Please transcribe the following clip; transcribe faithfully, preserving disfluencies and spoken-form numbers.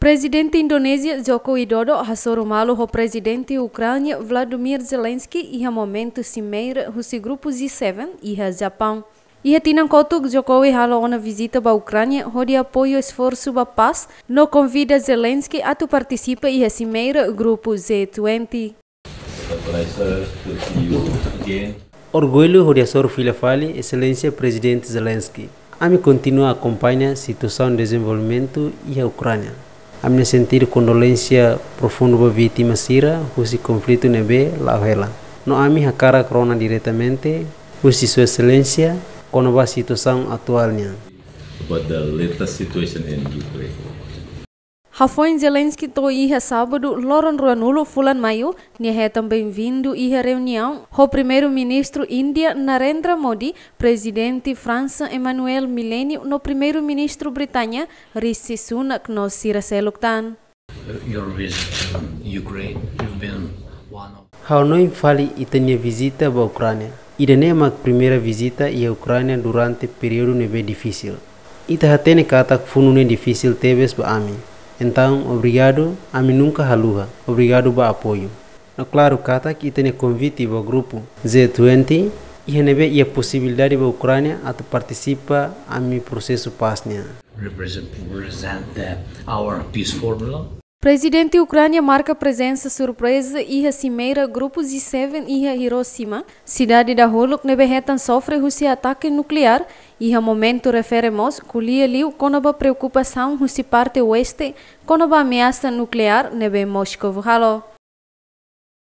Prezidente Indonézia Joko Widodo hasoru malu ho Prezidente Ukránia Volodymyr Zelensky iha momentu simeira husi grupu G sete iha Japaun. Iha tinan kotuk, Jokowi halo ona vizita ba Ukránia hodi apoiu esforsu ba pás no konvida Zelensky atu partisipa iha simeira grupu G vinte. Orgullu hodi hasoru fila fali Exelénsia Prezidente Zelensky. Ami kontinua akompaña situasaun dezenvolvimentu iha Ukránia. Ami-nia sentidu kondolénsia profundu ba vítima sira husi konflitu ne'ebé la'o hela. No ami hakarak rona diretamente husi Sua Exelénsia kona-ba situasaun atuál nian. About the latest situation in Ukraine. Hafoin Zelensky to'o iha sábadu, loron ruanulu fulan Maiu, nia hetan benvindu iha reuniaun ho Primeiru-Ministru Índia Narendra Modi, Prezidente Fransa Emmanuel Macron no Primeiru-Ministru Británia Rishi Sunak no sira seluk tan. Your visit to Ukraine, you've been one of Ha'u hanoin fali ita-nia vizita ba Ukránia. Ida-ne'e mak primeira vizita iha Ukránia durante períodu ne'ebé difisil. Ita hatene katak funu ne'e difisil tebes ba ami. Entaun, obrigadu, ami nunka haluha. Obrigadu ba apoiu. No klaru katak ita-nia konvite ba grupu G vinte, iha ne'ebé iha posibilidade ba Ukránia atu partisipa ami prosesu pás nian. Represent, represent the, our peace formula. Prezidente Ukránia marka prezensa surpreza iha simeira grupu G sete iha Hiroshima, sidade dahuluk ne'ebé hetan sofre husi atake nukleár, iha momentu refere mós ko'alia liu kona-ba preokupasaun husi parte oeste kona-ba ameasa nukleár ne'ebé Moskou halo.